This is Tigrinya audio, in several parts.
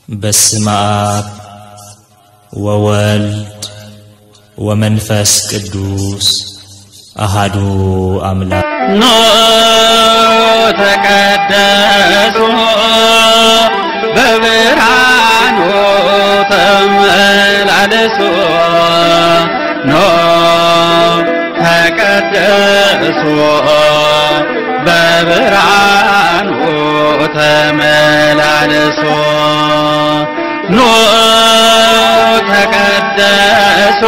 በስመ አብ ወወልድ ወመንፈስ ቅዱስ አሃዱ አምላክ። ኖ ተቀደሱ በብርሃኑ ተመላለሱ። ኖ ተቀደሱ በብርሃኑ ተመላለሱ። ኖ ተቀደሱ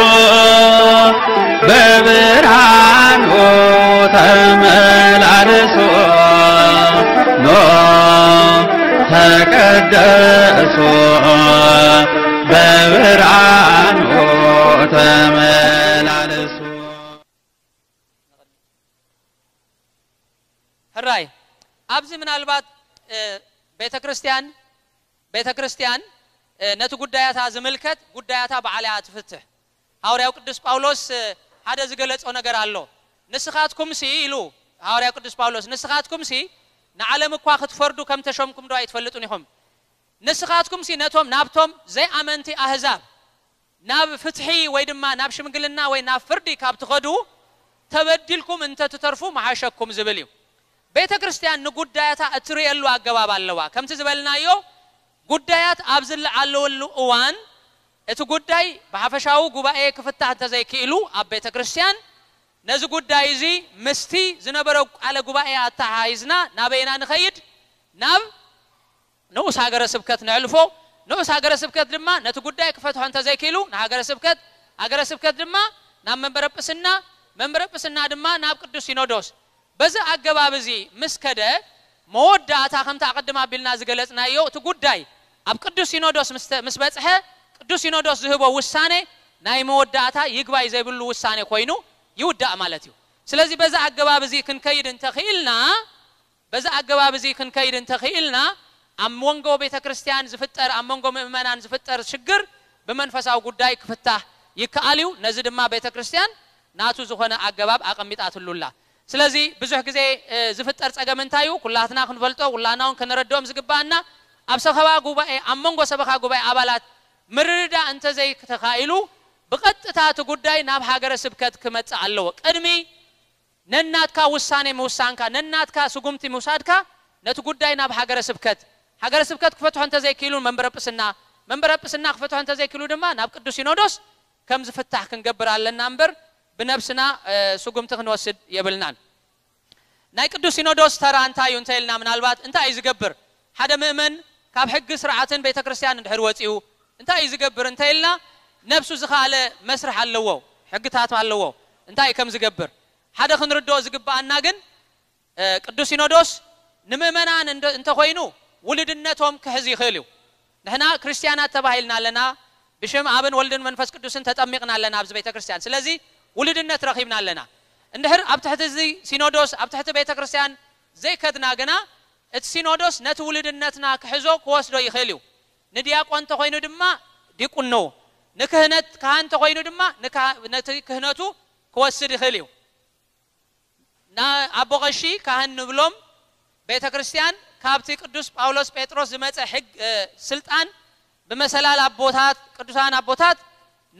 በብርሃኑ ተመላለሱ። ኖ ተቀደሱ በብርሃኑ ተመላለሱ። ሕራይ ኣብዚ ምናልባት ቤተ ክርስቲያን ቤተ ክርስቲያን ነቲ ጉዳያታ ዝምልከት ጉዳያታ ባዕላ እያ ትፍትሕ። ሃዋርያው ቅዱስ ጳውሎስ ሓደ ዝገለጾ ነገር ኣሎ። ንስኻትኩምሲ ኢሉ ሃዋርያው ቅዱስ ጳውሎስ፣ ንስኻትኩምሲ ንዓለም እኳ ክትፈርዱ ከም ተሾምኩም ዶ ኣይትፈልጡን ኢኹም? ንስኻትኩምሲ ነቶም ናብቶም ዘይኣመንቲ ኣህዛብ ናብ ፍትሒ ወይ ድማ ናብ ሽምግልና ወይ ናብ ፍርዲ ካብ ትኸዱ ተበዲልኩም እንተ ትተርፉ መሓሸኩም ዝብል እዩ። ቤተ ክርስቲያን ንጉዳያታ እትርእየሉ ኣገባብ ኣለዋ። ከምቲ ዝበልናዮ ጉዳያት ኣብ ዝለዓለወሉ እዋን እቲ ጉዳይ ብሓፈሻዊ ጉባኤ ክፍታሕ እንተዘይክኢሉ ኣብ ቤተ ክርስቲያን ነዚ ጉዳይ እዚ ምስቲ ዝነበረ ቃለ ጉባኤ ኣተሓሒዝና ናበይና ንኸይድ? ናብ ንኡስ ሃገረ ስብከት ነዕልፎ። ንኡስ ሃገረ ስብከት ድማ ነቲ ጉዳይ ክፈትሖ እንተዘይክኢሉ ንሃገረ ስብከት፣ ሃገረ ስብከት ድማ ናብ መንበረ ጵስና፣ መንበረ ጵስና ድማ ናብ ቅዱስ ሲኖዶስ። በዚ ኣገባብ እዚ ምስ ከደ መወዳእታ ከምቲ ኣቐድም ኣቢልና ዝገለጽናዮ እቲ ጉዳይ ኣብ ቅዱስ ሲኖዶስ ምስ ተ- ምስ በጽሐ ቅዱስ ሲኖዶስ ዝህቦ ውሳኔ ናይ መወዳእታ ይግባይ ዘይብሉ ውሳኔ ኮይኑ ይውዳእ ማለት እዩ። ስለዚ በዚ ኣገባብ እዚ ክንከይድ እንተኽኢልና በዚ ኣገባብ እዚ ክንከይድ እንተኽኢልና ኣብ መንጎ ቤተ ክርስቲያን ዝፍጠር ኣብ መንጎ ምእመናን ዝፍጠር ሽግር ብመንፈሳዊ ጉዳይ ክፍታህ ይከኣል እዩ። ነዚ ድማ ቤተ ክርስቲያን ናቱ ዝኾነ ኣገባብ ኣቐሚጣትሉ ኣላ። ስለዚ ብዙሕ ግዜ ዝፍጠር ጸገም እንታይ እዩ? ኩላትና ክንፈልጦ ኩላና እውን ክንረድኦም ዝግባኣና ኣብ ሰኸባ ጉባኤ ኣብ መንጎ ሰበኻ ጉባኤ ኣባላት ምርድዳእ እንተዘይተኻኢሉ ብቐጥታ እቲ ጉዳይ ናብ ሃገረ ስብከት ክመጽእ ኣለዎ። ቅድሚ ነናትካ ውሳኔ ምውሳንካ ነናትካ ስጉምቲ ምውሳድካ ነቲ ጉዳይ ናብ ሃገረ ስብከት ሃገረ ስብከት ክፈትሖ እንተዘይክኢሉ መንበረ ጵስና መንበረ ጵስና ክፈትሖ እንተዘይክኢሉ ድማ ናብ ቅዱስ ሲኖዶስ ከም ዝፍታሕ ክንገብር ኣለና እምበር ብነብስና ስጉምቲ ክንወስድ የብልናን። ናይ ቅዱስ ሲኖዶስ ተራ እንታይ እዩ እንተ ኢልና ምናልባት እንታይ እዩ ዝገብር? ሓደ ምእመን ካብ ሕጊ ስርዓትን ቤተ ክርስቲያን እንድሕር ወፂኡ እንታይ እዩ ዝገብር እንተ ኢልና ነብሱ ዝኸኣለ መስርሕ ኣለዎ፣ ሕግታት ኣለዎ እንታይ ከም ዝገብር ሓደ ክንርድኦ ዝግብኣና ግን ቅዱስ ሲኖዶስ ንምእመናን እንተኮይኑ ውልድነቶም ክሕዝ ይኽእል እዩ። ንሕና ክርስቲያናት ተባሂልና ኣለና፣ ብሽም ኣብን ወልድን መንፈስ ቅዱስን ተጠሚቕና ኣለና ኣብዚ ቤተ ክርስቲያን። ስለዚ ውልድነት ረኺብና ኣለና። እንድሕር ኣብ ትሕቲ እዚ ሲኖዶስ ኣብ ትሕቲ ቤተ ክርስቲያን ዘይከድና ግና እቲ ሲኖዶስ ነቲ ውልድነትና ክሕዞ ክወስዶ ይኽእል እዩ። ንዲያቆን እንተኾይኑ ድማ ዲቁኖ፣ ንክህነት ካህን እንተኾይኑ ድማ ንካ- ነቲ ክህነቱ ክወስድ ይኽእል እዩ። ና- ኣቦ ቀሺ ካህን ንብሎም ቤተ ክርስቲያን ካብቲ ቅዱስ ጳውሎስ ጴጥሮስ ዝመጸ ሕግ ስልጣን ብመሰላል ኣቦታት ቅዱሳን ኣቦታት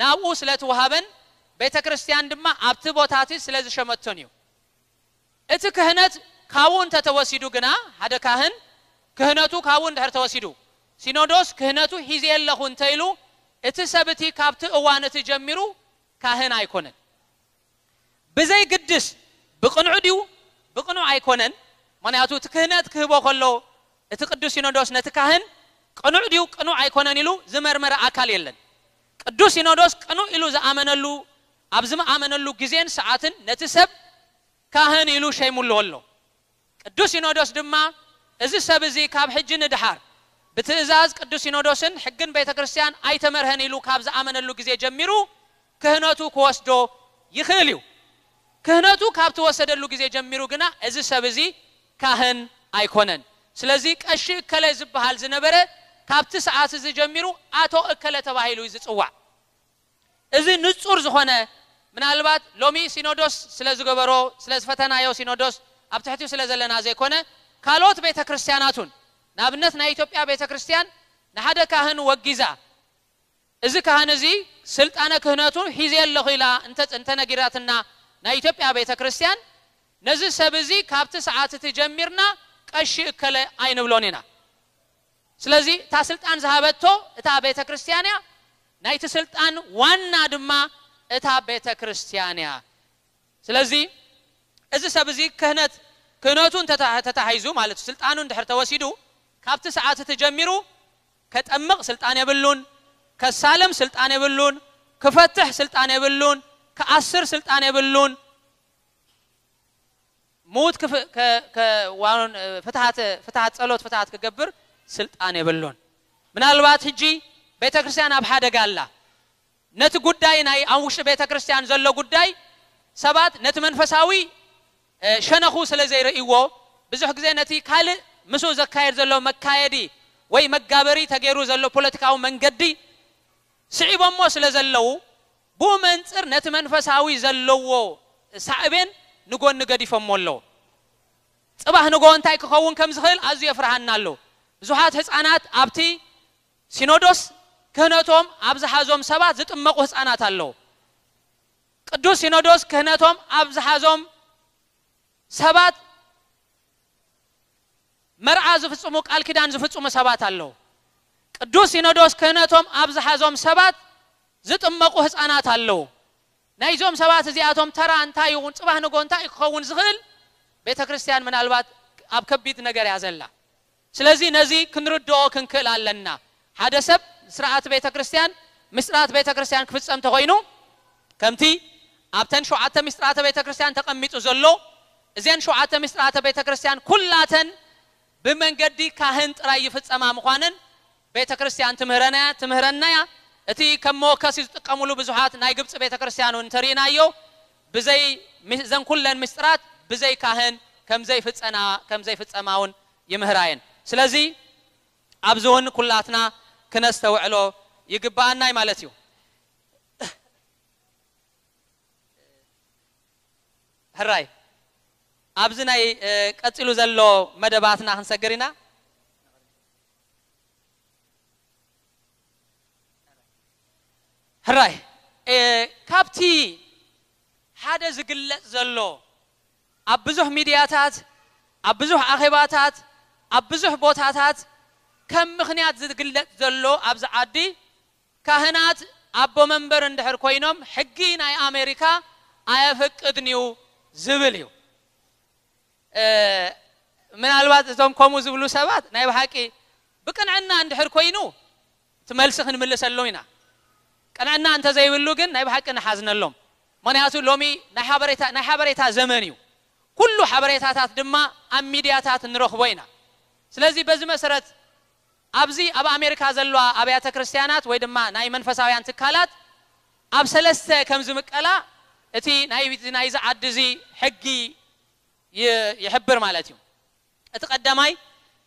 ናብኡ ስለትወሃበን ቤተ ክርስቲያን ድማ ኣብቲ ቦታ እቲ ስለ ዝሸመቶን እዩ። እቲ ክህነት ካብኡ እንተተወሲዱ ግና ሓደ ካህን ክህነቱ ካብኡ እንድሕር ተወሲዱ ሲኖዶስ ክህነቱ ሒዘ ኣለኹ እንተ ኢሉ እቲ ሰብ እቲ ካብቲ እዋን እቲ ጀሚሩ ካህን ኣይኮነን። ብዘይ ግድስ ብቕኑዕ ድዩ ብቕኑዕ ኣይኮነን። ምክንያቱ እቲ ክህነት ክህቦ ከሎ እቲ ቅዱስ ሲኖዶስ ነቲ ካህን ቅኑዕ ድዩ ቅኑዕ ኣይኮነን ኢሉ ዝመርመረ ኣካል የለን። ቅዱስ ሲኖዶስ ቅኑዕ ኢሉ ዝኣመነሉ ኣብ ዝመኣመነሉ ግዜን ሰዓትን ነቲ ሰብ ካህን ኢሉ ሸይሙሉ ኣሎ። ቅዱስ ሲኖዶስ ድማ እዚ ሰብ እዚ ካብ ሕጂ ንድሓር ብትእዛዝ ቅዱስ ሲኖዶስን ሕግን ቤተ ክርስቲያን ኣይተመርሀን ኢሉ ካብ ዝኣመነሉ ግዜ ጀሚሩ ክህነቱ ክወስዶ ይኽእል እዩ። ክህነቱ ካብ ትወሰደሉ ግዜ ጀሚሩ ግና እዚ ሰብ እዚ ካህን ኣይኮነን። ስለዚ ቀሺ እከለ ዝበሃል ዝነበረ ካብቲ ሰዓት እዚ ጀሚሩ ኣቶ እከለ ተባሂሉ እዩ ዝጽዋዕ። እዚ ንጹር ዝኾነ ምናልባት ሎሚ ሲኖዶስ ስለ ዝገበሮ ስለ ዝፈተናዮ ሲኖዶስ ኣብ ትሕቲኡ ስለ ዘለና ዘይኮነ ካልኦት ቤተ ክርስቲያናት እውን ንኣብነት ናይ ኢትዮጵያ ቤተ ክርስቲያን ሓደ ካህን ወጊዛ፣ እዚ ካህን እዚ ስልጣነ ክህነቱ ሒዘ ኣለኹ ኢላ እንተ-፣ እንተነጊራትና ናይ ኢትዮጵያ ቤተ ክርስቲያን፣ ነዚ ሰብ እዚ ካብቲ ሰዓት እቲ ጀሚርና ቀሺ እከለ ኣይንብሎን ኢና። ስለዚ እታ ስልጣን ዝሃበቶ እታ ቤተ ክርስቲያን እያ፣ ናይቲ ስልጣን ዋና ድማ እታ ቤተ ክርስቲያን እያ። ስለዚ እዚ ሰብ እዚ ክህነት፣ ክህነቱ እንተታ-፣ ተታሒዙ ማለት እዩ፣ ስልጣኑ እንድሕር ተወሲዱ፣ ካብቲ ሰዓት እቲ ጀሚሩ ከጠምቕ ስልጣን የብሉን፣ ከሳልም ስልጣን የብሉን፣ ክፈትሕ ስልጣን የብሉን፣ ክኣስር ስልጣን የብሉን። ምዉት ክፍ-፣ ከ-፣ ከ-፣ ዋኑን፣ እ፣ ፍትሓት፣ ፍትሓት ጸሎት፣ ፍትሓት ክገብር ስልጣን የብሉን። ምናልባት ሕጂ ቤተ ክርስቲያን ኣብ ሓደጋ ኣላ። ነቲ ጉዳይ ናይ ኣብ ውሽጢ ቤተ ክርስቲያን ዘሎ ጉዳይ ሰባት ነቲ መንፈሳዊ፣ እ፣ ሸነኹ ስለ ዘይርእይዎ፣ ብዙሕ ግዜ ነቲ ካልእ ምስኡ ዘካየድ ዘሎ መካየዲ ወይ መጋበሪ ተገይሩ ዘሎ ፖለቲካዊ መንገዲ ስዒቦሞ ስለ ዘለዉ፣ ብኡ መንጽር ነቲ መንፈሳዊ ዘለዎ ሳዕቤን ንጎኒ ገዲፎሞ ኣለዉ። ጽባሕ ንግሆ እንታይ ክኸውን ከም ዝኽእል ኣዝዩ የፍርሃና ኣሎ። ብዙሓት ህጻናት ኣብቲ ሲኖዶስ ክህነቶም ኣብ ዝሓዞም ሰባት ዝጥመቑ ህጻናት ኣለዉ። ቅዱስ ሲኖዶስ ክህነቶም ኣብ ዝሓዞም ሰባት መርዓ ዝፍጽሙ፣ ቃል ኪዳን ዝፍጽሙ ሰባት ኣለዉ። ቅዱስ ሲኖዶስ ክህነቶም ኣብ ዝሓዞም ሰባት ዝጥመቑ ህጻናት ኣለዉ። ናይዞም ሰባት እዚኣቶም ተራ እንታይ ይኹን፣ ጽባሕ ንግሆ እንታይ ክኸውን ዝኽእል፣ ቤተ ክርስቲያን ምናልባት ኣብ ከቢድ ነገር እያ ዘላ። ስለዚ ነዚ ክንርድኦ ክንክእል ኣለና። ሓደ ሰብ ስርዓት ቤተ ክርስቲያን፣ ምስጢራት ቤተ ክርስቲያን ክፍጸም ተኾይኑ፣ ከምቲ ኣብተን ሸውዓተ ምስጢራተ ቤተ ክርስቲያን ተቐሚጡ ዘሎ፣ እዘን ሸውዓተ ምስጢራተ ቤተ ክርስቲያን ኩላተን ብመንገዲ ካህን ጥራይ ይፍጸማ ምዃነን ቤተ ክርስቲያን ትምህረና፣ ትምህረና እያ። እቲ ከም መወከሲ ዝጥቀሙሉ ብዙሓት ናይ ግብጺ ቤተ ክርስቲያን እውን እንተርኢናዮ፣ ብዘይ፣ እዘን ኩለን ምስጢራት ብዘይ ካህን ከም ዘይፍጸና-፣ ከም ዘይፍጸማ እውን ይምህራ እየን። ስለዚ ኣብዚ እውን ኩላትና ክነስተውዕሎ ይግባኣና እዩ ማለት እዩ። ሕራይ፣ ኣብዚ ናይ፣ እ፣ ቀጺሉ ዘሎ መደባትና ክንሰግር ኢና። ሕራይ፣ እ፣ ካብቲ ሓደ ዝግለጽ ዘሎ ኣብ ብዙሕ ሚድያታት፣ ኣብ ብዙሕ ኣኼባታት፣ ኣብ ብዙሕ ቦታታት ከም ምኽንያት ዝግለጽ ዘሎ ኣብዚ ዓዲ ካህናት ኣቦ መንበር እንድሕር ኮይኖም ሕጊ ናይ ኣሜሪካ ኣየፈቅድን እዩ ዝብል እዩ። እ፣ ምናልባት እዞም ከምኡ ዝብሉ ሰባት ናይ ብሓቂ ብቅንዕና እንድሕር ኮይኑ እቲ መልሲ ክንምልሰሎም ኢና። ቅንዕና እንተዘይብሉ ግን ናይ ብሓቂ ንሓዝነሎም። ምኽንያቱ ሎሚ ናይ ሓበሬታ፣ ናይ ሓበሬታ ዘመን እዩ። ኩሉ ሓበሬታታት ድማ ኣብ ሚድያታት ንረኽቦ ኢና። ስለዚ በዚ መሰረት ኣብዚ ኣብ ኣሜሪካ ዘለዋ ኣብያተ ክርስቲያናት ወይ ድማ ናይ መንፈሳውያን ትካላት ኣብ ሰለስተ ከም ዝምቀላ እቲ ናይ፣ ናይዚ ዓዲ እዚ ሕጊ ይ-፣ ይሕብር ማለት እዩ። እቲ ቀዳማይ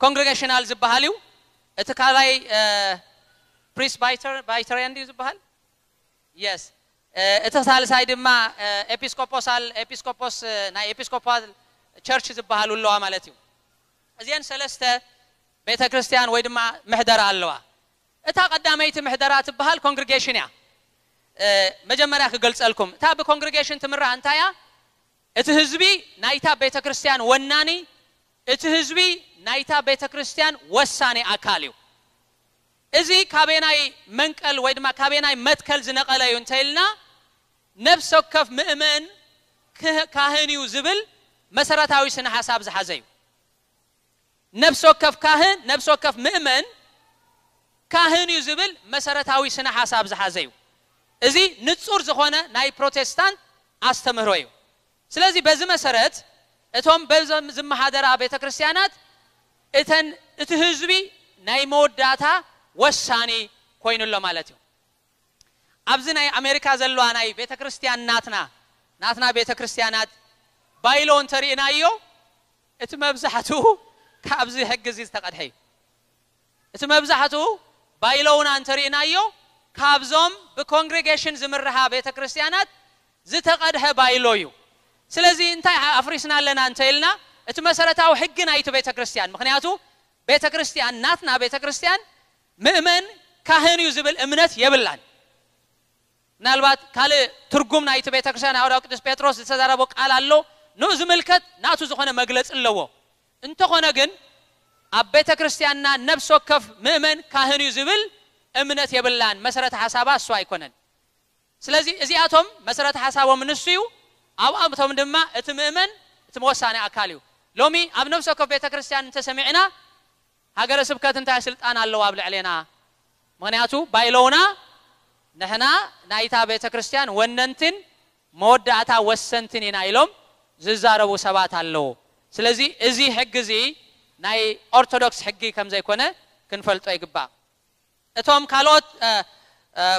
ኮንግሬጌሽናል ዝበሃል እዩ። እቲ ካልኣይ፣ እ፣ ፕሪስባይተር-፣ ባይተሪያን ድዩ ዝበሃል? የስ። እ፣ እቲ ሳልሳይ ድማ፣ እ፣ ኤፒስኮፖሳል፣ ኤፒስኮፖስ፣ እ፣ ናይ ኤፒስኮፓል ቸርች ዝበሃሉ ኣለዋ ማለት እዩ። እዚአን ሰለስተ ቤተ ክርስቲያን ወይ ድማ ምሕደራ ኣለዋ። እታ ቀዳመይቲ ምሕደራ ትበሃል ኮንግሪጌሽን እያ። እ፣ መጀመርያ ክገልጸልኩም። እታ ብኮንግሪጌሽን ትምራሕ እንታይ እያ? እቲ ህዝቢ ናይታ ቤተ ክርስቲያን ወናኒ፣ እቲ ህዝቢ ናይታ ቤተ ክርስቲያን ወሳኒ ኣካል እዩ። እዚ ካበናይ መንቀል ወይ ድማ ካበናይ መትከል ዝነቐለ እዩ እንተኢልና፣ ነፍሲ ወከፍ ምእመን ክህ-፣ ካህን እዩ ዝብል መሰረታዊ ስነ ሓሳብ ዝሓዘ እዩ። ነፍሲ ወከፍ ካህን፣ ነፍሲ ወከፍ ምእመን ካህን እዩ ዝብል መሰረታዊ ስነ ሓሳብ ዝሓዘ እዩ። እዚ ንጹር ዝኾነ ናይ ፕሮቴስታንት ኣስተምህሮ እዩ። ስለዚ በዚ መሰረት እቶም በዞም ዝመሓደራ ቤተ ክርስቲያናት እተን፣ እቲ ህዝቢ ናይ መወዳእታ ወሳኒ ኮይኑ ኣሎ ማለት እዩ። ኣብዚ ናይ ኣሜሪካ ዘለዋ ናይ ቤተ ክርስቲያን ናትና፣ ናትና ቤተ ክርስቲያናት ባይሎ እንተርኢናዮ፣ እቲ መብዛሕትኡ ካብዚ ሕጊ እዚ ዝተቐድሐ እዩ። እቲ መብዛሕትኡ ባይሎውና እንተርኢናዮ፣ ካብዞም ብኮንግሬጌሽን ዝምርሓ ቤተ ክርስቲያናት ዝተቐድሐ ባይሎ እዩ። ስለዚ እንታይ ኣፍሪስና ኣለና እንተ ኢልና፣ እቲ መሰረታዊ ሕጊ ናይቲ ቤተ ክርስቲያን፣ ምኽንያቱ ቤተ ክርስቲያን ናትና ቤተ ክርስቲያን ምእመን ካህን እዩ ዝብል እምነት የብላን። ምናልባት ካልእ ትርጉም ናይቲ ቤተክርስትያን፣ ሃዋርያው ቅዱስ ጴጥሮስ ዝተዛረቦ ቃል ኣሎ፣ ንኡ ዝምልከት ናቱ ዝኾነ መግለጺ ኣለዎ። እንተኾነ ግን ኣብ ቤተክርስትያንና ነፍሲ ወከፍ ምእመን ካህን እዩ ዝብል እምነት የብላን። መሰረተ ሓሳባ እሱ ኣይኮነን። ስለዚ እዚኣቶም መሰረተ ሓሳቦም ንሱ እዩ። ኣብኣቶም ድማ እቲ ምእመን እቲ መወሳኒ ኣካል እዩ። ሎሚ ኣብ ነፍሲ ወከፍ ቤተክርስትያን እንተሰሚዕና፣ ሃገረ ስብከት እንታይ ስልጣን ኣለዋ ኣብ ልዕሌና? ምኽንያቱ ባይሎውና ንሕና ናይታ ቤተክርስትያን ወነንትን መወዳእታ ወሰንትን ኢና ኢሎም ዝዛረቡ ሰባት ኣለዉ። ስለዚ እዚ ሕጊ እዚ ናይ ኦርቶዶክስ ሕጊ ከም ዘይኮነ ክንፈልጦ ይግባእ። እቶም ካልኦት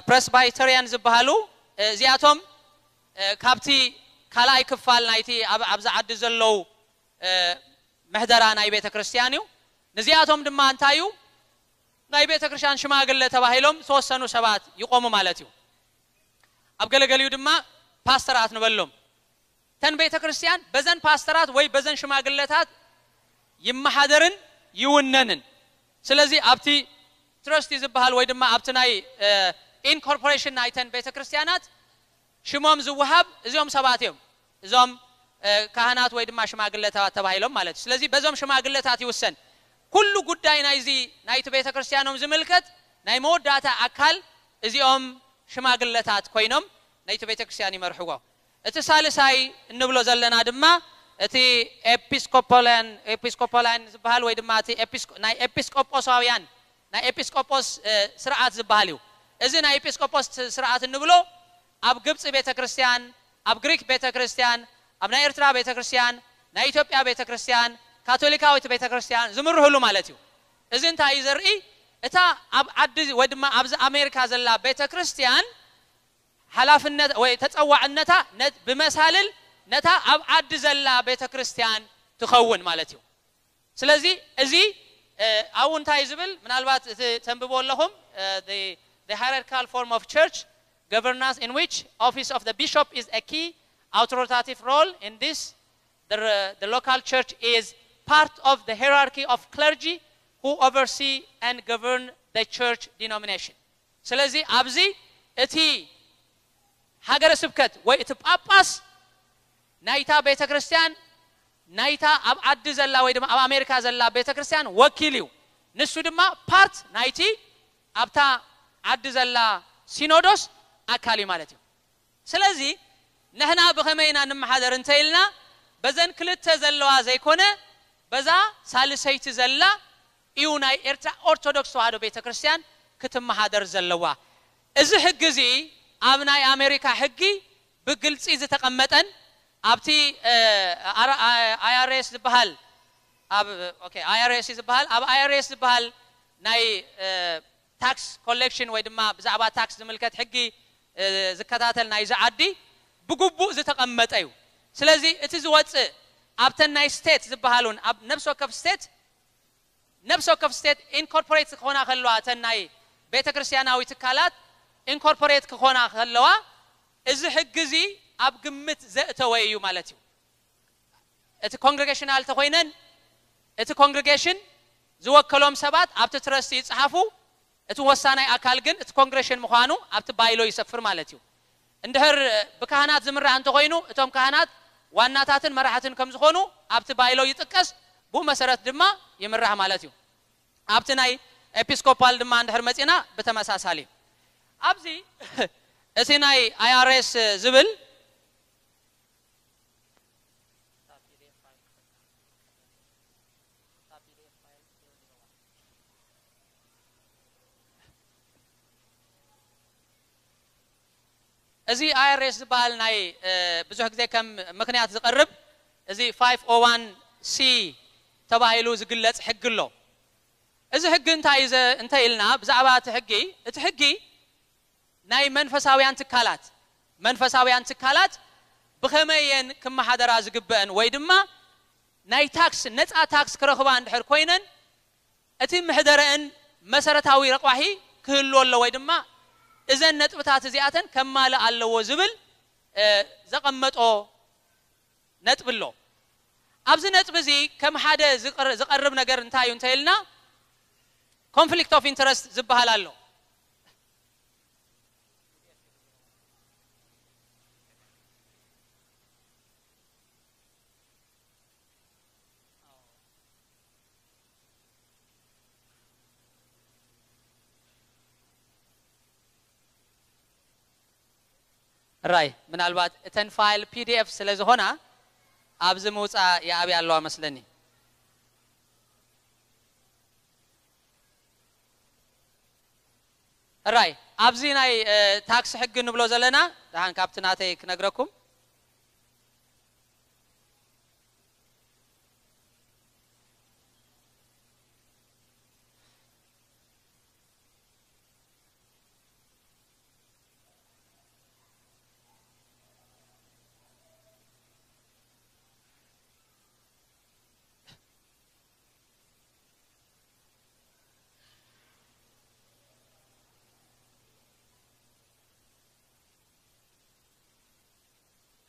ፕሬስባይተሪያን ዝበሃሉ፣ እዚኣቶም ካብቲ ካልኣይ ክፋል ናይቲ ኣብዚ ዓዲ ዘለዉ ምሕደራ ናይ ቤተ ክርስቲያን እዩ። ንዚኣቶም ድማ እንታይ እዩ? ናይ ቤተ ክርስቲያን ሽማግለ ተባሂሎም ዝተወሰኑ ሰባት ይቆሙ ማለት እዩ። ኣብ ገለገሊኡ ድማ ፓስተራት ንበሎም። ተን ቤተ ክርስቲያን በዘን ፓስተራት ወይ በዘን ሽማግለታት ይመሓደርን ይውነንን። ስለዚ ኣብቲ ትረስቲ ዝበሃል ወይ ድማ ኣብቲ ናይ ኢንኮርፖሬሽን ናይተን ቤተ ክርስቲያናት ሽሞም ዝወሃብ እዚኦም ሰባት እዮም። እዞም ካህናት ወይ ድማ ሽማግለታት ተባሂሎም ማለት እዩ። ስለዚ በዞም ሽማግለታት ይውሰን። ኩሉ ጉዳይ ናይዚ ናይቲ ቤተ ክርስቲያኖም ዝምልከት ናይ መወዳእታ ኣካል እዚኦም ሽማግለታት ኮይኖም ናይቲ ቤተ ክርስቲያን ይመርሕዎ። እቲ ሳልሳይ እንብሎ ዘለና ድማ እቲ ኤፒስኮፖላን ኤፒስኮፖላን ዝበሃል ወይ ድማ እቲ ኤፒስኮ- ናይ ኤፒስቆጶሳውያን ናይ ኤጲስቆጶስ ስርዓት ዝበሃል እዩ። እዚ ናይ ኤጲስቆጶስ ስርዓት እንብሎ ኣብ ግብፂ ቤተክርስትያን፣ ኣብ ግሪክ ቤተክርስትያን፣ ኣብ ናይ ኤርትራ ቤተክርስትያን፣ ናይ ኢትዮጵያ ቤተክርስትያን፣ ካቶሊካዊት ቤተክርስትያን ዝምርህሉ ማለት እዩ። እዚ እንታይ እዩ ዘርኢ? እታ ኣብ ዓዲ ወይ ድማ ኣብዚ ኣሜሪካ ዘላ ቤተክርስትያን ሓላፍነት ወይ ተፀዋዕነታ ብመሳልል ነታ ኣብ ዓዲ ዘላ ቤተክርስትያን ትኸውን ማለት እዩ። ስለዚ እዚ ኣብኡ እንታይ ዝብል ምናልባት እቲ ተንብቦ ኣለኹም the hierarchical form of church governance in which office of the bishop is a key authoritative role in this the, the local church is part of the hierarchy of clergy who oversee and govern the church denomination. ስለዚ ኣብዚ እቲ ሃገረ ስብከት ወይ እቲ ጳጳስ ናይታ ቤተ ክርስቲያን ናይታ ኣብ ዓዲ ዘላ ወይ ድማ ኣብ ኣሜሪካ ዘላ ቤተ ክርስቲያን ወኪል እዩ። ንሱ ድማ ፓርት ናይቲ ኣብታ ዓዲ ዘላ ሲኖዶስ ኣካል እዩ ማለት እዩ። ስለዚ ንሕና ብኸመይ ኢና ንመሓደር እንተ ኢልና በዘን ክልተ ዘለዋ ዘይኮነ በዛ ሳልሰይቲ ዘላ እዩ ናይ ኤርትራ ኦርቶዶክስ ተዋህዶ ቤተ ክርስቲያን ክትመሓደር ዘለዋ። እዚ ሕጊ እዚ ኣብ ናይ ኣሜሪካ ሕጊ ብግልፂ ዝተቐመጠን ኣብቲ ኣይኣርኤስ ዝበሃል ኣብ ኣይኣርኤስ ዝበሃል ኣብ ኣይኣርኤስ ዝበሃል ናይ ታክስ ኮሌክሽን ወይ ድማ ብዛዕባ ታክስ ዝምልከት ሕጊ ዝከታተል ናይዚ ዓዲ ብግቡእ ዝተቐመጠ እዩ። ስለዚ እቲ ዝወፅእ ኣብተን ናይ ስቴት ዝበሃሉን ኣብ ነብሲ ወከፍ ስቴት ነብሲ ወከፍ ስቴት ኢንኮርፖሬት ክኾና ከለዋ እተን ናይ ቤተ ክርስቲያናዊ ትካላት ኢንኮርፖሬት ክኾና ከለዋ እዚ ሕጊ እዚ ኣብ ግምት ዘእተወ እዩ ማለት እዩ። እቲ ኮንግሬጌሽናል ተኮይነን እቲ ኮንግሬጌሽን ዝወከሎም ሰባት ኣብቲ ትረስቲ ይፅሓፉ። እቲ ወሳናይ ኣካል ግን እቲ ኮንግሬሽን ምዃኑ ኣብቲ ባይሎ ይሰፍር ማለት እዩ። እንድሕር ብካህናት ዝምራሕ እንተኮይኑ እቶም ካህናት ዋናታትን መራሕትን ከም ዝኾኑ ኣብቲ ባይሎ ይጥቀስ። ብኡ መሰረት ድማ ይምራሕ ማለት እዩ። ኣብቲ ናይ ኤፒስኮፓል ድማ እንድሕር መፂና ብተመሳሳሊ ኣብዚ እቲ ናይ ኣይኣርኤስ ዝብል እዚ ኣይኣርኤስ ዝበሃል ናይ ብዙሕ ግዜ ከም ምክንያት ዝቐርብ እዚ ፋይቭ ኦ ዋን ሲ ተባሂሉ ዝግለጽ ሕጊ ኣሎ። እዚ ሕጊ እንታይ እዩ እንተ ኢልና ብዛዕባ እቲ ሕጊ፣ እቲ ሕጊ ናይ መንፈሳውያን ትካላት መንፈሳውያን ትካላት ብኸመይ እየን ክመሓደራ ዝግበአን ወይ ድማ ናይ ታክስ ነፃ ታክስ ክረኽባ እንድሕር ኮይነን እቲ ምሕደረአን መሰረታዊ ረቋሒ ክህልዎ ኣሎ ወይ ድማ እዘን ነጥብታት እዚኣተን ከማልእ ኣለዎ ዝብል ዘቐመጦ ነጥቢ ኣሎ። ኣብዚ ነጥቢ እዚ ከም ሓደ ዝቐርብ ነገር እንታይ እዩ እንተ ኢልና conflict of interest ዝበሃል ኣሎ። ራይ ምናልባት እተን ፋይል ፒ ዲ ኤፍ ስለ ዝኾና ኣብዚ ምውፃእ ይኣብያ ኣለዋ መስለኒ። ራይ ኣብዚ ናይ ታክስ ሕጊ ንብሎ ዘለና ደሓን ካብቲ ናተይ ክነግረኩም።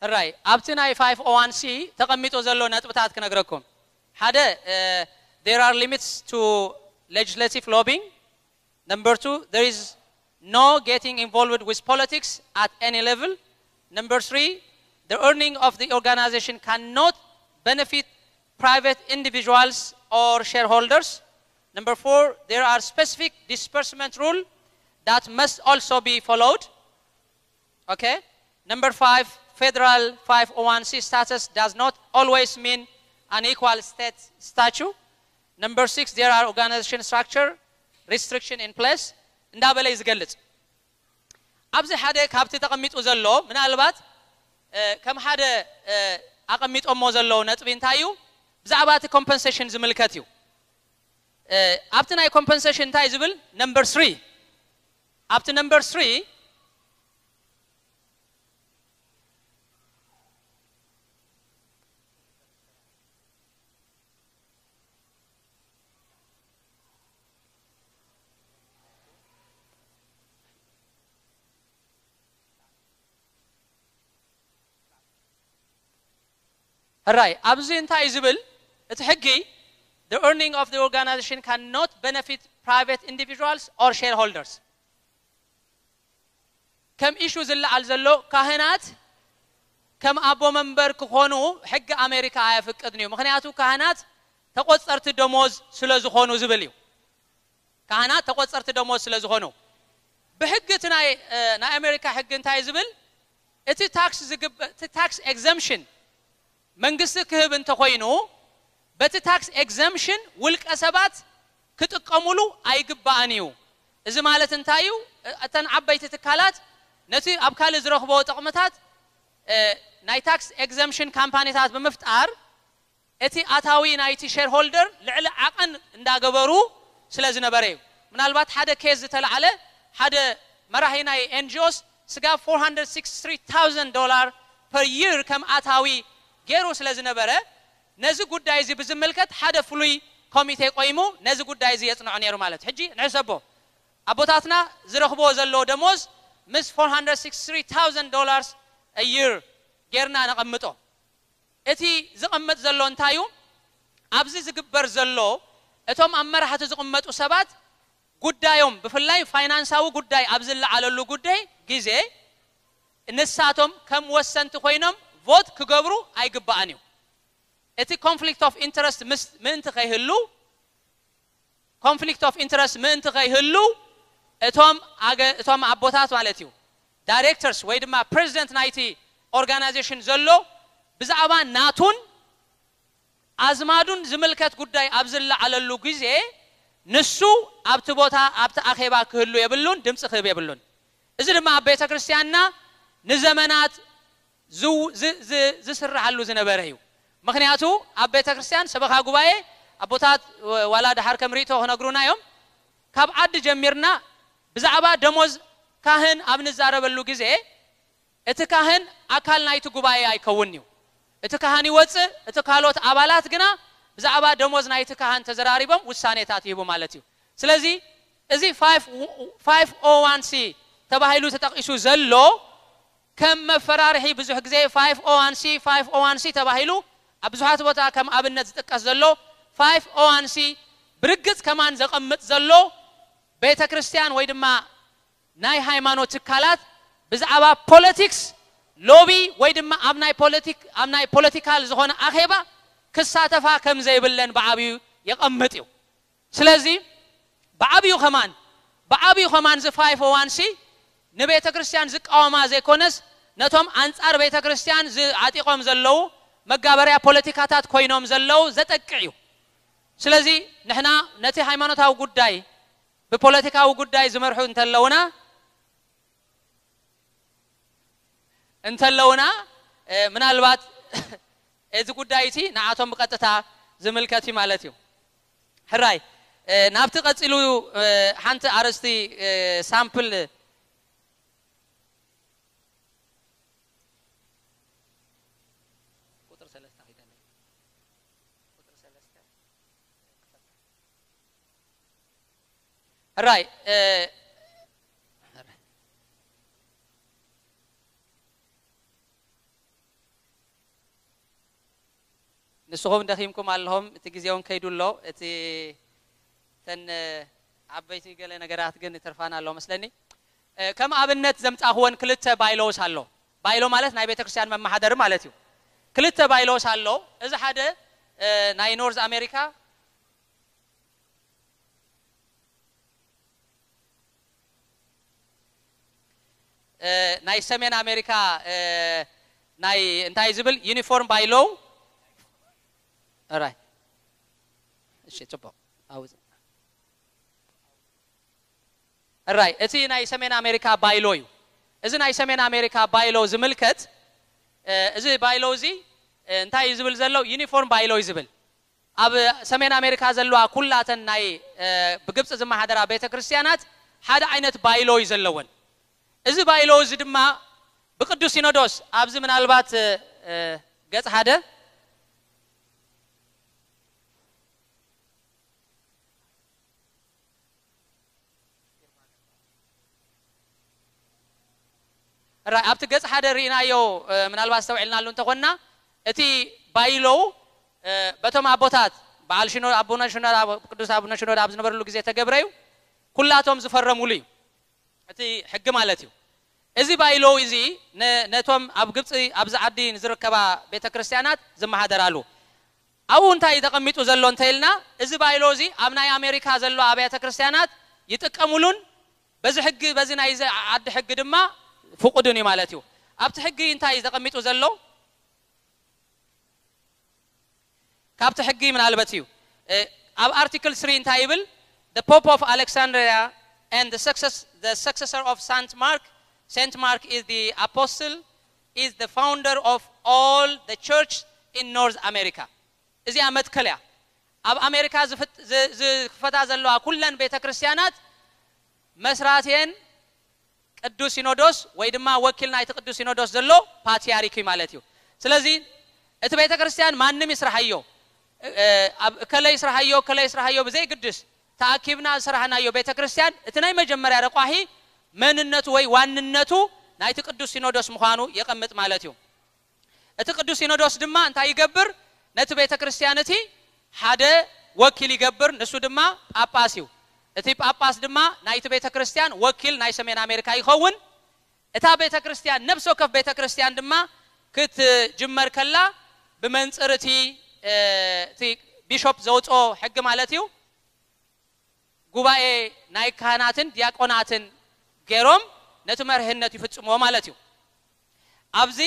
ራይ ኣብቲ ናይ ፋይቭ ኦ ዋን ሲ ተቐሚጡ ዘሎ ነጥብታት ክነግረኩም። ሓደ there are limits to legislative lobbying. Number two, there is no getting involved with politics at any level. Number three, the earning of the organization cannot benefit private individuals or shareholders. Number four, there are specific disbursement rule that must also be followed. Okay. Number five, federal five oh one c status does not always mean an equal state statue. Number six, there are organization structure restriction in place. እንዳበለ እዩ ዝገልጽ። ኣብዚ ሓደ ካብቲ ተቐሚጡ ዘሎ ምናልባት ከም ሓደ ኣቐሚጦሞ ዘለዉ ነጥቢ እንታይ እዩ? ብዛዕባ እቲ ኮምፐንሴሽን ዝምልከት እዩ። ኣብቲ ናይ ኮምፐንሴሽን እንታይ ዝብል ነምበር ስሪ ኣብቲ ነምበር ስሪ ሕራይ ኣብዚ እንታይ እዩ ዝብል እቲ ሕጊ? The earning of the organization cannot benefit private individuals or shareholders. ከም ኢሹ ዝለዓል ዘሎ ካህናት ከም ኣቦ መንበር ክኾኑ ሕጊ ኣሜሪካ ኣየፍቅድን እዩ። ምክንያቱ ካህናት ተቆፀርቲ ደሞዝ ስለ ዝኾኑ ዝብል እዩ። ካህናት ተቆፀርቲ ደሞዝ ስለ ዝኾኑ ብሕጊ እቲ ናይ ናይ ኣሜሪካ ሕጊ እንታይ ዝብል? እቲ ታክስ ዝግበ እቲ ታክስ ኤግዘምሽን መንግስቲ ክህብ እንተኾይኑ በቲ ታክስ ኤግዘምሽን ውልቀ ሰባት ክጥቀሙሉ ኣይግባእን እዩ። እዚ ማለት እንታይ እዩ? እተን ዓበይቲ ትካላት ነቲ ኣብ ካልእ ዝረኽቦ ጥቕምታት ናይ ታክስ ኤግዘምሽን ካምፓኒታት ብምፍጣር እቲ ኣታዊ ናይቲ ሼርሆልደር ልዕሊ ዓቐን እንዳገበሩ ስለ ዝነበረ እዩ። ምናልባት ሓደ ኬዝ ዝተላዓለ ሓደ መራሒ ናይ ኤንጂኦስ ስጋብ ፎር ሃንድረድ ሲክስቲ ትሪ ታውዘንድ ዶላር ፐር ይር ከም ኣታዊ ገይሩ ስለ ዝነበረ ነዚ ጉዳይ እዚ ብዝምልከት ሓደ ፍሉይ ኮሚቴ ቆይሙ ነዚ ጉዳይ እዚ የፅንዖ ነይሩ ማለት እዩ። ሕጂ ንሕሰቦ ኣቦታትና ዝረኽብዎ ዘለዎ ደሞዝ ምስ ፎር ሃንድረድ ሲክስቲ ትሪ ታውዘንድ ዶላርስ አ ይር ጌርና ነቐምጦ። እቲ ዝቐመጥ ዘሎ እንታይ እዩ? ኣብዚ ዝግበር ዘሎ እቶም ኣብ መራሕቲ ዝቕመጡ ሰባት ጉዳዮም ብፍላይ ፋይናንሳዊ ጉዳይ ኣብ ዝለዓለሉ ጉዳይ ግዜ ንሳቶም ከም ወሰንቲ ኮይኖም ቮት ክገብሩ ኣይግባእን እዩ። እቲ ኮንፍሊክት ኦፍ ኢንተረስት ምስ ምእንቲ ከይህሉ ኮንፍሊክት ኦፍ ኢንተረስት ምእንቲ ከይህሉ እቶም ኣገ- እቶም ኣቦታት ማለት እዩ ዳይሬክተርስ ወይ ድማ ፕሬዚደንት ናይቲ ኦርጋናይዜሽን ዘሎ ብዛዕባ ናቱን ኣዝማዱን ዝምልከት ጉዳይ ኣብ ዝለዓለሉ ግዜ ንሱ ኣብቲ ቦታ ኣብቲ ኣኼባ ክህሉ የብሉን፣ ድምፂ ክህብ የብሉን። እዚ ድማ ኣብ ቤተ ክርስቲያንና ንዘመናት ዝው- ዝ- ዝ- ዝስርሓሉ ዝነበረ እዩ። ምክንያቱ ኣብ ቤተ ክርስቲያን ሰበኻ ጉባኤ ኣቦታት ወ- ዋላ ድሓር ከም ርእቶ ክነግሩና እዮም። ካብ ዓዲ ጀሚርና ብዛዕባ ደሞዝ ካህን ኣብ ንዛረበሉ ግዜ እቲ ካህን ኣካል ናይቲ ጉባኤ ኣይከውን እዩ። እቲ ካህን ይወፅእ፣ እቲ ካልኦት ኣባላት ግና ብዛዕባ ደሞዝ ናይቲ ካህን ተዘራሪቦም ውሳኔታት ይህቡ ማለት እዩ። ስለዚ እዚ ፋይቭ ኦ ዋን ሲ ተባሂሉ ተጠቒሱ ዘሎ ከም መፈራርሒ ብዙሕ ግዜ ፋይቭ ኦ ዋን ሲ ፋይቭ ኦ ዋን ሲ ተባሂሉ ኣብ ብዙሓት ቦታ ከም ኣብነት ዝጥቀስ ዘሎ ፋይቭ ኦ ዋን ሲ ብርግጽ ከማን ዘቐምጥ ዘሎ ቤተ ክርስቲያን ወይ ድማ ናይ ሃይማኖት ትካላት ብዛዕባ ፖለቲክስ ሎቢ ወይ ድማ ኣብ ናይ ፖለቲክ ኣብ ናይ ፖለቲካል ዝኾነ ኣኼባ ክሳተፋ ከም ዘይብለን ብዓብዩ የቐምጥ እዩ። ስለዚ ብዓብዩ ከማን ብዓብዩ ከማን እዚ ፋይፍ ኦ ዋን ሲ ንቤተ ክርስቲያን ዝቃወማ ዘይኮነስ ነቶም ኣንጻር ቤተ ክርስቲያን ዝዓጢቖም ዘለዉ መጋበርያ ፖለቲካታት ኮይኖም ዘለዉ ዘጠቅዕ እዩ። ስለዚ ንሕና ነቲ ሃይማኖታዊ ጉዳይ ብፖለቲካዊ ጉዳይ ዝመርሑ እንተለውና እንተለውና ምናልባት እዚ ጉዳይ እቲ ንዓቶም ብቐጥታ ዝምልከት እዩ ማለት እዩ። ሕራይ ናብቲ ቀፂሉ ሓንቲ ኣርእስቲ ሳምፕል ሕራይ ንስኹም ደኺምኩም ኣለኹም። እቲ ግዜ እውን ከይዱ ኣሎ። እቲ ተን ዓበይቲ ገለ ነገራት ግን ይተርፋና ኣሎ መስለኒ። ከም ኣብነት ዘምጻእኽወን ክልተ ባይሎስ ኣሎ። ባይሎ ማለት ናይ ቤተክርስትያን መመሓደሪ ማለት እዩ። ክልተ ባይሎስ ኣሎ። እዚ ሓደ ናይ ኖርዝ ኣሜሪካ ናይ ሰሜን ኣሜሪካ ናይ እንታይ ዝብል ዩኒፎርም ባይሎው ራይ እሺ ጽቡቅ ኣውዝ ራይ እቲ ናይ ሰሜን ኣሜሪካ ባይሎ እዩ። እዚ ናይ ሰሜን ኣሜሪካ ባይሎ ዝምልከት እዚ ባይሎ እዚ እንታይ እዩ ዝብል ዘሎ? ዩኒፎርም ባይሎ እዩ ዝብል። ኣብ ሰሜን ኣሜሪካ ዘለዋ ኩላተን ናይ ብግብፂ ዝመሓደራ ቤተ ክርስቲያናት ሓደ ዓይነት ባይሎ እዩ ዘለወን። እዚ ባይሎ እዚ ድማ ብቅዱስ ሲኖዶስ ኣብዚ ምናልባት ገጽ ሓደ ራይ ኣብቲ ገጽ ሓደ ርኢናዮ ምናልባት ዝተውዕልናሉ እንተኾንና እቲ ባይሎው በቶም ኣቦታት በዓል ሽኖ ኣቡነ ሽኖዳ ቅዱስ ኣቡነ ሽኖዳ ኣብ ዝነበርሉ ግዜ ተገብረ እዩ። ኩላቶም ዝፈረሙሉ እዩ እቲ ሕጊ ማለት እዩ። እዚ ባይሎው እዚ ነቶም ኣብ ግብፂ ኣብዚ ዓዲ ንዝርከባ ቤተ ክርስቲያናት ዝመሃደራሉ ኣብኡ እንታይ እዩ ተቐሚጡ ዘሎ እንተኢልና እዚ ባይሎ እዚ ኣብ ናይ ኣሜሪካ ዘሎ ኣብያተ ክርስቲያናት ይጥቀሙሉን በዚ ሕጊ በዚ ናይ ዓዲ ሕጊ ድማ ፍቁድን እዩ ማለት እዩ። ኣብቲ ሕጊ እንታይ እዩ ተቐሚጡ ዘሎ? ካብቲ ሕጊ ምናልበት እዩ ኣብ ኣርቲክል ስሪ እንታይ ይብል? The Pope of Alexandria and the success the successor of Saint Mark. Saint Mark is the apostle, is the founder of all the church in North America. እዚኣ መትከል እያ። ኣብ ኣሜሪካ ዝክፈታ ዘለዋ ኩለን ቤተ ክርስቲያናት መስራትየን ቅዱስ ሲኖዶስ ወይ ድማ ወኪል ናይቲ ቅዱስ ሲኖዶስ ዘሎ ፓትሪያርክ እዩ ማለት እዩ። ስለዚ እቲ ቤተ ክርስቲያን ማንም ይስርሓዮ፣ እከለይ ይስርሓዮ፣ እከለይ ይስርሓዮ ብዘይግድስ ተኣኪብና ዝሰራሕናዮ ቤተ ክርስቲያን እቲ ናይ መጀመርያ ረቋሒ መንነቱ ወይ ዋንነቱ ናይቲ ቅዱስ ሲኖዶስ ምዃኑ የቐምጥ ማለት እዩ። እቲ ቅዱስ ሲኖዶስ ድማ እንታይ ይገብር? ነቲ ቤተ ክርስቲያን እቲ ሓደ ወኪል ይገብር፣ ንሱ ድማ ጳጳስ እዩ። እቲ ጳጳስ ድማ ናይቲ ቤተ ክርስቲያን ወኪል ናይ ሰሜን ኣሜሪካ ይኸውን። እታ ቤተ ክርስቲያን ነብሲ ወከፍ ቤተ ክርስቲያን ድማ ክትጅመር ከላ ብመንፅር እቲ እቲ ቢሾፕ ዘውፅኦ ሕጊ ማለት እዩ ጉባኤ ናይ ካህናትን ዲያቆናትን ገይሮም ነቲ መርህነት ይፍጽምዎ ማለት እዩ። ኣብዚ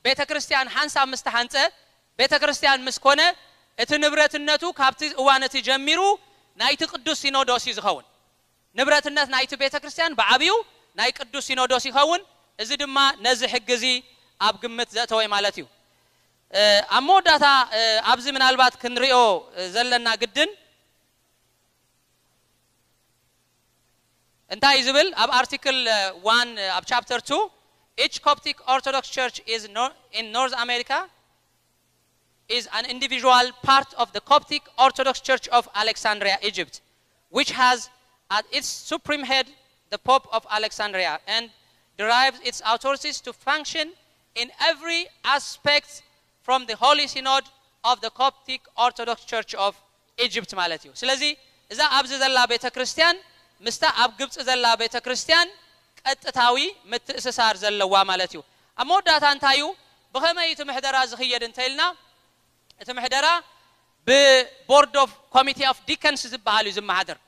ቤተ ክርስቲያን ሓንሳብ ምስ ተሓንጸ ቤተ ክርስቲያን ምስ ኮነ እቲ ንብረትነቱ ካብቲ እዋን እቲ ጀሚሩ ናይቲ ቅዱስ ሲኖዶስ እዩ ዝኸውን። ንብረትነት ናይቲ ቤተ ክርስቲያን ብዓብዩ ናይ ቅዱስ ሲኖዶስ ይኸውን። እዚ ድማ ነዚ ሕጊ እዚ ኣብ ግምት ዘእተወ ማለት እዩ። ኣብ መወዳእታ ኣብዚ ምናልባት ክንሪኦ ዘለና ግድን እንታይ እዩ ዝብል ኣብ ኣርቲክል ዋን ኣብ ቻፕተር ቱ each Coptic Orthodox Church is in North America is an individual part of the Coptic Orthodox Church of Alexandria, Egypt, which has at its supreme head the Pope of Alexandria and derives its authorities to function in every aspect from the Holy Synod of the Coptic Orthodox Church of Egypt ማለት እዩ። ስለዚ እዛ ኣብዚ ዘላ ቤተ ክርስቲያን ምስታ ኣብ ግብፂ ዘላ ቤተ ክርስቲያን ቀጥታዊ ምትእስሳር ዘለዋ ማለት እዩ። ኣብ መወዳእታ እንታይ እዩ? ብኸመይ እቲ ምሕደራ ዝኽየድ እንተኢልና፣ እቲ ምሕደራ ብ Board of Committee of Deacons ዝበሃል እዩ ዝመሓደር።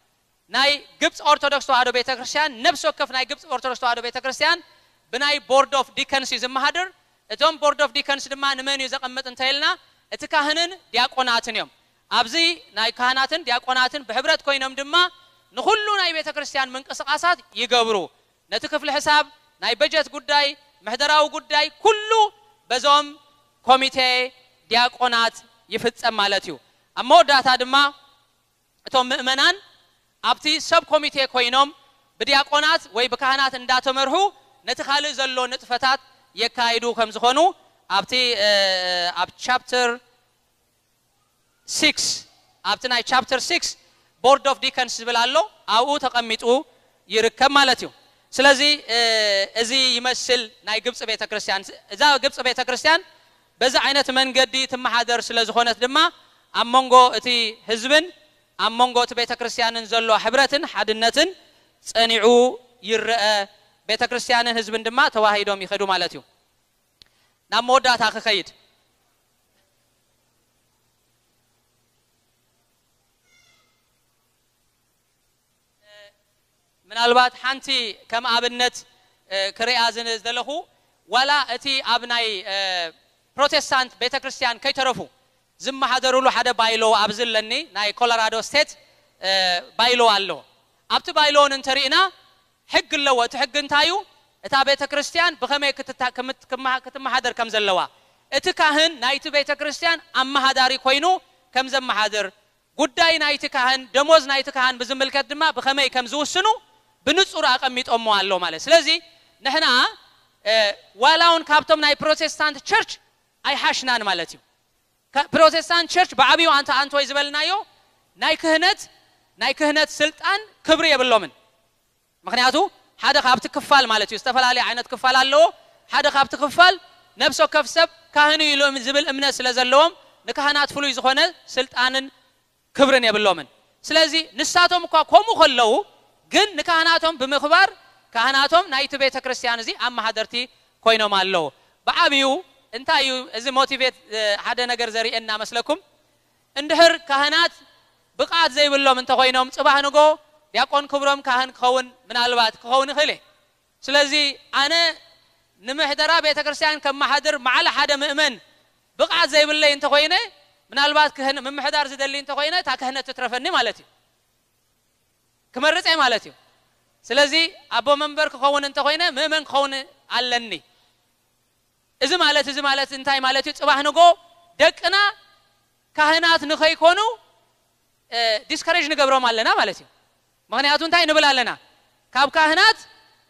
ናይ ግብፂ ኦርቶዶክስ ተዋህዶ ቤተ ክርስቲያን፣ ነፍሲ ወከፍ ናይ ግብፂ ኦርቶዶክስ ተዋህዶ ቤተ ክርስቲያን ብናይ Board of Deacons እዩ ዝመሓደር። እዞም Board of Deacons ድማ ንመን እዩ ዘቐምጥ እንተኢልና፣ እቲ ካህንን ዲያቆናትን እዮም። ኣብዚ ናይ ካህናትን ዲያቆናትን ብሕብረት ኮይኖም ድማ ንኹሉ ናይ ቤተ ክርስቲያን ምንቅስቃሳት ይገብሩ። ነቲ ክፍሊ ሕሳብ፣ ናይ በጀት ጉዳይ፣ ምሕደራዊ ጉዳይ ኩሉ በዞም ኮሚቴ ዲያቆናት ይፍጸም ማለት እዩ። ኣብ መወዳእታ ድማ እቶም ምእመናን ኣብቲ ሰብ ኮሚቴ ኮይኖም ብዲያቆናት ወይ ብካህናት እንዳተመርሑ ነቲ ካልእ ዘሎ ንጥፈታት የካይዱ ከም ዝኾኑ ኣብቲ፣ እ፣ ኣብ ቻፕተር ሲክስ፣ ኣብቲ ናይ ቻፕተር ሲክስ Board of Deacons ዝብል ኣሎ፣ ኣብኡ ተቐሚጡ ይርከብ ማለት እዩ። ስለዚ፣ እ፣ እዚ ይመስል ናይ ግብፂ ቤተክርስትያን። እዛ ግብፂ ቤተክርስትያን በዚ ዓይነት መንገዲ ትመሓደር ስለ ዝኾነት ድማ ኣብ መንጎ እቲ ህዝብን ኣብ መንጎ እቲ ቤተክርስትያንን ዘሎ ሕብረትን ሓድነትን ጸኒዑ ይረአ። ቤተክርስትያንን ህዝብን ድማ ተዋሂዶም ይኸዱ ማለት እዩ። ናብ መወዳእታ ክኸይድ፣ ምናልባት ሓንቲ ከም ኣብነት፣ እ፣ ክሪኣ ዝን-፣ ዝደለኹ፣ ዋላ እቲ ኣብ ናይ፣ እ፣ ፕሮቴስታንት ቤተክርስትያን ከይተረፉ ዝመሓደሩሉ ሓደ ባይሎ ኣብዚ ኣለኒ፣ ናይ ኮሎራዶ ስቴት፣ እ፣ ባይሎ ኣሎ። ኣብቲ ባይሎ እውን እንተሪእና ሕጊ ኣለዎ። እቲ ሕጊ እንታይ እዩ? እታ ቤተክርስትያን ብኸመይ ክትታ-፣ ክምት-፣ ክመሃ-፣ ክትመሓደር ከም ዘለዋ፣ እቲ ካህን ናይቲ ቤተክርስትያን ኣመሃዳሪ ኮይኑ ከም ዘመሓድር፣ ጉዳይ ናይቲ ካህን፣ ደሞዝ ናይቲ ካህን ብዝምልከት ድማ ብኸመይ ከም ዝውስኑ ብንጹር ኣቐሚጦሞ ኣሎ ማለት። ስለዚ ንሕና፣ እ፣ ዋላ እውን ካብቶም ናይ ፕሮቴስታንት ቸርች ኣይሓሽናን ማለት እዩ። ከ-፣ ፕሮቴስታንት ቸርች ብዓብዩ ኣንተ ኣንቶይ ዝበልናዮ ናይ ክህነት፣ ናይ ክህነት ስልጣን ክብሪ የብሎምን። ምኽንያቱ ሓደ ካብቲ ክፋል ማለት እዩ፣ ዝተፈላለየ ዓይነት ክፋል ኣለዎ። ሓደ ካብቲ ክፋል ነፍሲ ወከፍ ሰብ ካህን እዩ ኢሉ ዝብል እምነት ስለ ዘለዎም ንካህናት ፍሉይ ዝኾነ ስልጣንን ክብርን የብሎምን። ስለዚ ንሳቶም እኳ ከምኡ ከለዉ ግን ንካህናቶም ብምኽባር ካህናቶም ናይቲ ቤተ ክርስቲያን እዚ ኣመሓደርቲ ኮይኖም ኣለዉ። ብዓብዩ እንታይ እዩ እዚ ሞቲቬት፣ እ፣ ሓደ ነገር ዘርእየና መስለኩም? እንድሕር ካህናት ብቕዓት ዘይብሎም እንተኾይኖም፣ ጽባሕ ንጎ ዲያቆን ክብሮም ካህን ክኸውን ምናልባት ክኸውን ይኽእል እየ። ስለዚ ኣነ ንምሕደራ ቤተ ክርስቲያን ከመሓድር መዓለ ሓደ ምእመን ብቕዓት ዘይብለይ እንተኾይነ፣ ምናልባት ክህን-፣ ምምሕዳር ዝደሊ እንተኾይነ፣ እታ ክህነት ትትረፈኒ ማለት እዩ። ክመርጽ እየ ማለት እዩ። ስለዚ ኣቦ መንበር ክኸውን እንተኾይነ፣ ምእመን ክኸውን ኣለኒ። እዚ ማለት፣ እዚ ማለት እንታይ ማለት እዩ? ጽባሕ ንጎ ደቅና ካህናት ንኸይኮኑ፣ እ፣ ዲስከሬጅ ንገብሮም ኣለና ማለት እዩ። ምኽንያቱ እንታይ ንብል ኣለና? ካብ ካህናት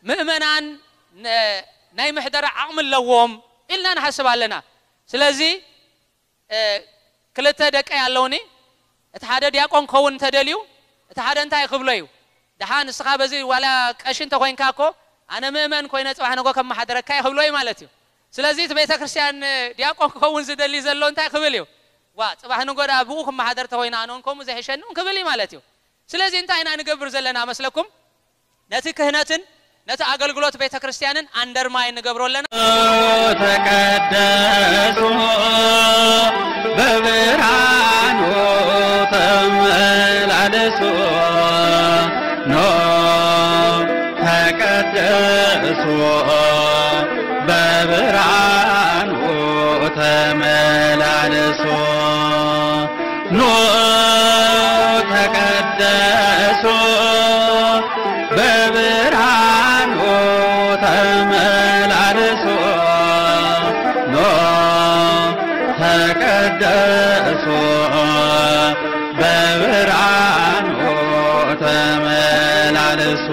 ምእመናን ነ-፣ ናይ ምሕደራ ዓቕሚ ኣለዎም ኢልና ንሓስብ ኣለና። ስለዚ፣ እ፣ ክልተ ደቀይ ኣለውኒ። እቲ ሓደ ዲያቆን ክኸውን እንተደልዩ፣ እቲ ሓደ እንታይ ክብሎ እዩ? ደሓ ንስኻ በዚ ዋላ ቀሺ እንተኾይንካ እኮ፣ ኣነ ምእመን ኮይነ ጽባሕ ንጎ ከመሓድረካ እየ ክብሎ እዩ ማለት እዩ። ስለዚ እቲ ቤተ ክርስቲያን ዲያቆን ክኸውን ዝደሊ ዘሎ እንታይ ክብል እዩ? ዋ፣ ጽባሕ ንጎ ደኣ ብኡ ክመሓደር ተኾይነ ኣነ እውን ከምኡ ዘይሕሸኒ እውን ክብል እዩ ማለት እዩ። ስለዚ እንታይ ኢና ንገብር ዘለና መስለኩም? ነቲ ክህነትን ነቲ ኣገልግሎት ቤተ ክርስቲያንን ኣንደርማይን ንገብሮ ኣለና። ተቀደሱ በብርሃኑ ተመላለሱ። ኖ ተቀደሱ በብርሃኑ ተመላለሱ። ኑ ተቀደሱ በብርሃኑ ተመላለሱ። ኑ ተቀደሱ በብርሃኑ ተመላለሱ።